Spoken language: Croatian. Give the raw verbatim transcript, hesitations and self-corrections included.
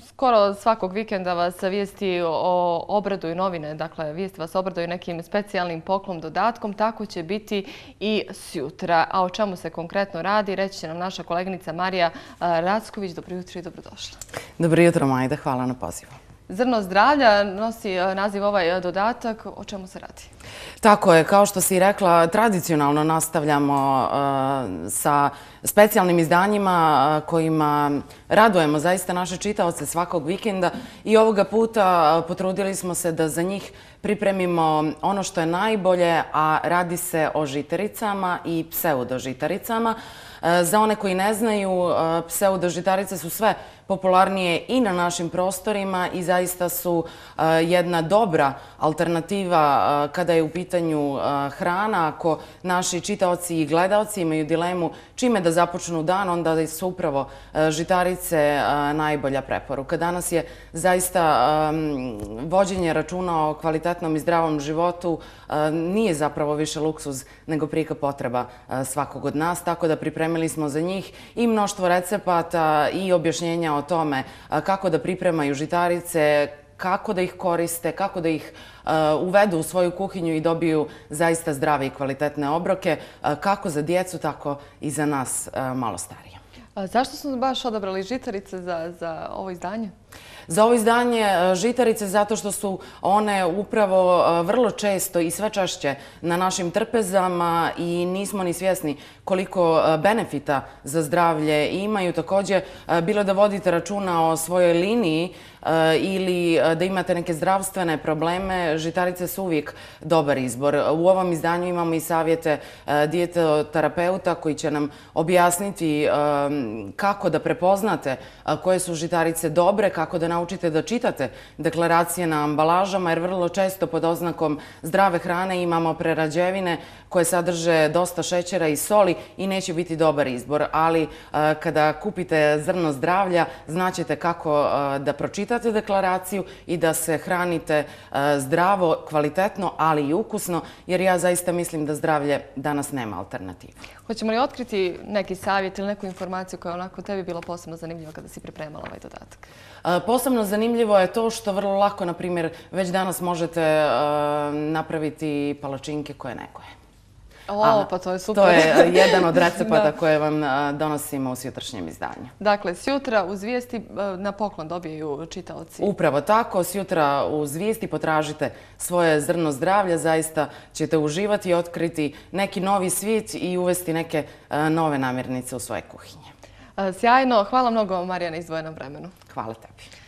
skoro svakog vikenda vas vijesti o obraduju novine, dakle vijesti vas obraduju nekim specijalnim poklon dodatkom, tako će biti i sjutra. A o čemu se konkretno radi, reći će nam naša koleginica Marija Racković. Dobro jutro i dobrodošla. Dobro jutro, Majda, hvala na pozivu. Zrno zdravlja nosi naziv ovaj dodatak. O čemu se radi? Tako je, kao što si rekla, tradicionalno nastavljamo sa specijalnim izdanjima kojima radujemo zaista naše čitaoce svakog vikenda i ovoga puta potrudili smo se da za njih pripremimo ono što je najbolje, a radi se o žitaricama i pseudožitaricama. Za one koji ne znaju, pseudožitarice su sve popularnije i na našim prostorima i zaista su jedna dobra alternativa kada je u pitanju hrana. Ako naši čitaoci i gledaoci imaju dilemu čime da započnu dan, onda su upravo žitarice najbolja preporuka. Danas je zaista vođenje računa o kvalitetnom i zdravom životu nije zapravo više luksuz nego prijeka potreba svakog od nas, tako da pripremili smo za njih i mnoštvo recepata i objašnjenja o tome kako da pripremaju žitarice, kako da ih koriste, kako da ih uvedu u svoju kuhinju i dobiju zaista zdrave i kvalitetne obroke, kako za djecu, tako i za nas malo starije. Zašto smo baš odabrali žitarice za ovo izdanje? Za ovo izdanje žitarice zato što su one upravo vrlo često i sve češće na našim trpezama i nismo ni svjesni koliko benefita za zdravlje imaju. Također, bilo da vodite računa o svojoj liniji ili da imate neke zdravstvene probleme, žitarice su uvijek dobar izbor. U ovom izdanju imamo i savjete dijetoterapeuta koji će nam objasniti kako da prepoznate koje su žitarice dobre, kako da naučite da čitate deklaracije na ambalažama, jer vrlo često pod oznakom zdrave hrane imamo prerađevine koje sadrže dosta šećera i soli i neće biti dobar izbor. Ali kada kupite zrno zdravlja, znaćete kako da pročitate deklaraciju i da se hranite zdravo, kvalitetno, ali i ukusno, jer ja zaista mislim da zdravlje danas nema alternativu. Hoćemo li otkriti neki savjet ili neku informaciju koja je onako tebi bila posebno zanimljiva kada si pripremala ovaj dodatak? Posebno zanimljivo je to što vrlo lako, na primjer, već danas možete napraviti palačinke koje nekoje. O, pa to je super. To je jedan od recepata koje vam donosimo u sjutrašnjem izdanju. Dakle, sjutra uz vijesti na poklon dobijaju čitaoci. Upravo tako, sjutra uz vijesti potražite svoje zrno zdravlja, zaista ćete uživati i otkriti neki novi svijet i uvesti neke nove namirnice u svoje kuhinje. Sjajno, hvala mnogo Marija na izdvojenom vremenu. Hvala tebi.